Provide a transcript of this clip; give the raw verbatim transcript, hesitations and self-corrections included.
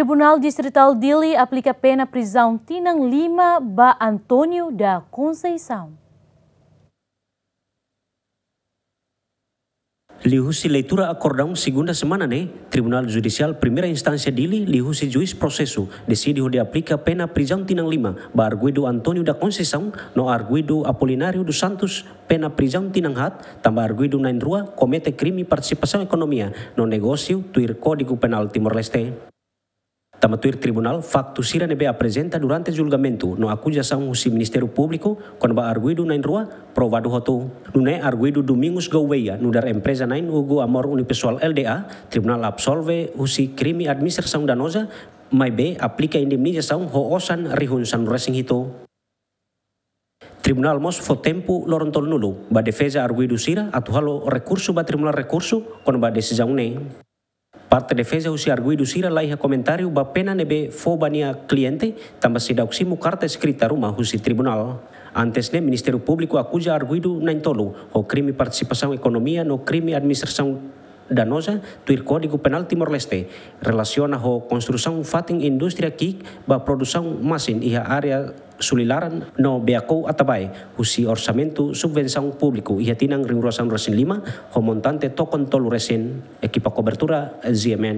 Tribunál Distritál Dili aplika pena prizaun tinan lima ba António da Conceição. Liuhusi leitura akordaun segunda semana ne'e, Tribunál Judisiál Primeira Instánsia Dili, liuhusi juís prosesu, deside hodi aplika pena prizaun tinan lima ba arguidu António da Conceição no arguidu Apolinário dos Santos, pena prizaun tinan haat, tanba arguidu na'in-rua komete krime partisipasaun ekonomia no negósiu tuir Kódigu Penál Timor-Leste. Tanba tuir tribunál, faktu sira ne'ebé aprezenta durante julgamentu no akuzasaun husi Ministériu Públiku kona-ba arguidu na'in-rua provadu hotu. Nune'e arguidu Domingos Gouveia nu'udar empreza na'in Hugo Amor Unipessoal L D A, tribunál absolve husi krime administrasaun danoza, maibé aplika indemnizasaun ho osan rihun sanulu-resin-hitu. Tribunál mós fó tempu loron tolunulu ba defeza arguidu sira atu halo rekursu ba Tribunál Rekursu kona-ba desizaun ne'e. Parte defeza husi arguidu sira la iha komentáriu ba pena ne'ebé fó ba nia kliente, tanba seidauk simu karta eskrita ruma husi tribunál. Antes ne'e, Ministériu Públiku akuza arguidu na'in-tolu ho krime partisipasaun ekonomia no krime administrasaun danoza tuir Kódigu Penál Timor-Leste, relasiona ho konstrusaun fatin indústria ki'ik ba produsaun masin iha área Sulilaran no Beakou Atabae, husi orsamentu subvensaun públiku iha tinan rihun rua sanulu-resin-lima, ho montante tokon tolu resin. Ekipa kobertura, G M N.